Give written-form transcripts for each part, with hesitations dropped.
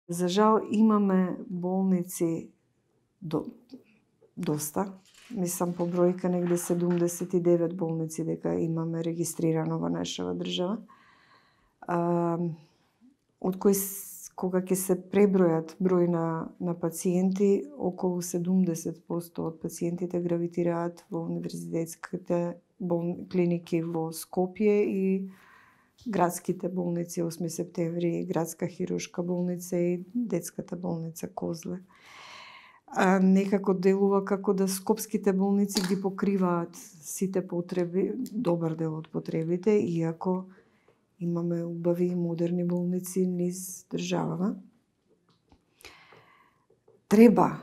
За жал имаме болници доста. Мислам по бројка негде 79 болници дека имаме регистрирано во нашава држава. Од кои кога ќе се пребројат број на пациенти, околу 70% од пациентите гравитираат во универзитетските клиники во Скопје и градските болници 8 септември, градска хируршка болница и детската болница Козле. Некако делува како да скопските болници ги покриваат сите потреби, добар дел од потребите, иако имаме убави и модерни болници низ државава. Треба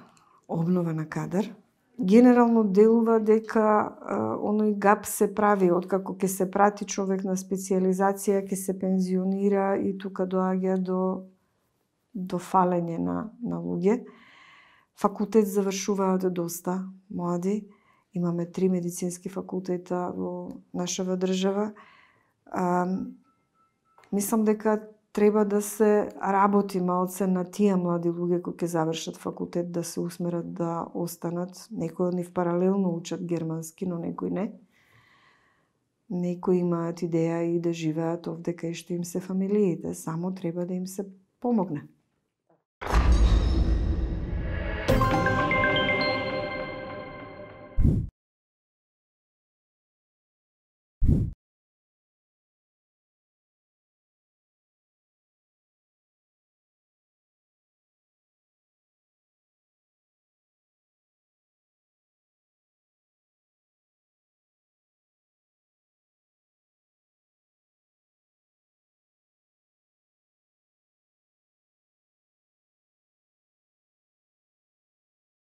обнова на кадар. Генерално делува дека оној гап се прави откако ќе се прати човек на специјализација, ќе се пензионира и тука доаѓа до фалење на луѓе. Факултет завршуваат доста млади. Имаме 3 медицински факултета во нашава држава. Мислам дека треба да се работи малце на тие млади луѓе кои ќе завршат факултет, да се усмерат да останат. Некои од нив паралелно учат германски, но некои не. Некои имаат идеја и да живеат овде кај што им се фамилиите, само треба да им се помогне.